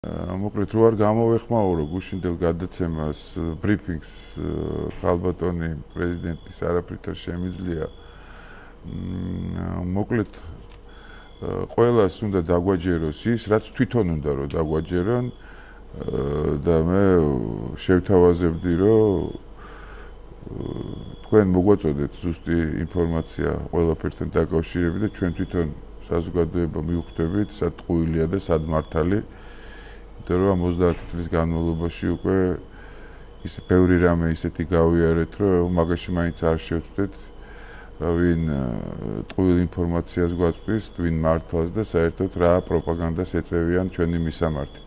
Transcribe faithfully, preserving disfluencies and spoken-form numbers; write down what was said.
მოკლედ რო არ გამოვეხმაურო გუშინდელ გადაცემას ბრიფინგს ხალბატონი პრეზიდენტის არაფრით არ შემიძლია მოკლედ ყველას უნდა დაგვაჯეროს ის რაც თვითონ უნდა რომ დაგვაჯერონ და მე შევთავაზებდი რომ თქვენ მოგვაწოდეთ ზუსტი ინფორმაცია ყველაფერთან დაკავშირებით და ჩვენ თვითონ საზოგადოება მივხვდებით სად ტყუილია და სად მართალი რომ ოცდაათი წლის განმავლობაში უკვე ის ბევრი რამე ისეთი გავიარეთ, რომ მაგაში მაინც არ შევწვდეთ, ვინ ტყუილ ინფორმაციას გვაწვდის, ვინ მართლას და საერთოდ რა პროპაგანდას ეწევიან ჩვენი მისამართით.